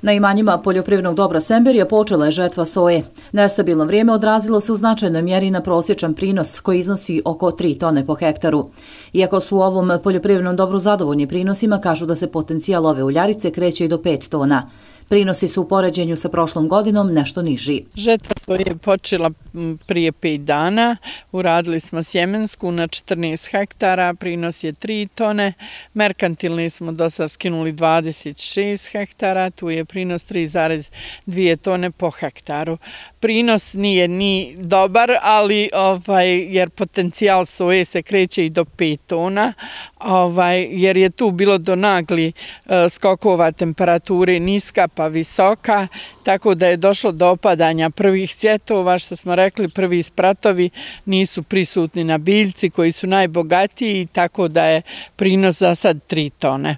Na imanjima poljoprivrednog dobra Semberija počela je žetva soje. Nestabilno vrijeme odrazilo se u značajnoj mjeri na prosječan prinos koji iznosi oko 3 tone po hektaru. Iako su u ovom poljoprivrednom dobru zadovoljni prinosima, kažu da se potencijal ove uljarice kreće i do 5 tona. Prinosi su u poređenju sa prošlom godinom nešto niži. Žetva soje je počela prije 5 dana. Uradili smo sjemensku na 14 hektara, prinos je 3 tone. Merkantilni smo do sad skinuli 26 hektara, tu je prinos 3,2 tone po hektaru. Prinos nije ni dobar, ali jer potencijal soje se kreće i do 5 tona, jer je tu bilo do nagli skokova temperature niska pa visoka, tako da je došlo do opadanja prvih cvjetova, što smo rekli, prvi spratovi nisu prisutni na biljci koji su najbogatiji, tako da je prinos za sad 3 tone.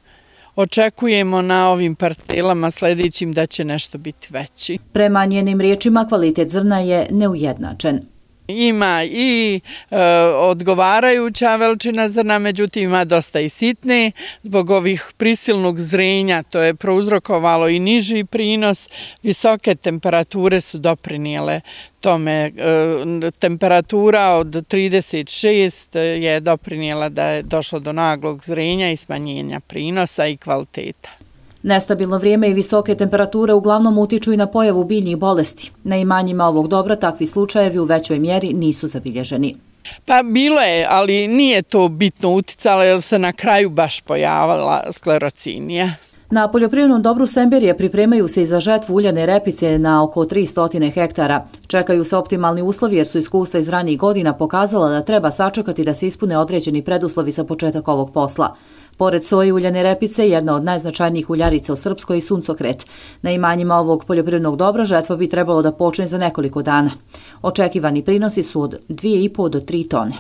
Očekujemo na ovim parcelama sljedećim da će nešto biti veći. Prema njenim riječima, kvalitet zrna je neujednačen. Ima i odgovarajuća veličina zrna, međutim ima dosta i sitne. Zbog ovih prisilnog zrenja to je prouzrokovalo i niži prinos. Visoke temperature su doprinijele tome. Temperatura od 36 je doprinijela da je došlo do naglog zrenja i smanjenja prinosa i kvaliteta. Nestabilno vrijeme i visoke temperature uglavnom utiču i na pojavu biljnih bolesti. Na imanjima ovog dobra takvi slučajevi u većoj mjeri nisu zabilježeni. Pa bilo je, ali nije to bitno uticalo jer se na kraju baš pojavila sklerocinija. Na poljoprivrednom dobru Semberija pripremaju se i za žetvu uljane repice na oko 300 hektara. Čekaju se optimalni uslovi jer su iskustva iz ranijih godina pokazala da treba sačekati da se ispune određeni preduslovi za početak ovog posla. Pored soje i uljane repice, jedna od najznačajnijih uljarica u Srpskoj je suncokret. Na imanjima ovog poljoprivrednog dobra žetva bi trebalo da počne za nekoliko dana. Očekivani prinosi su od 2,5 do 3 tone.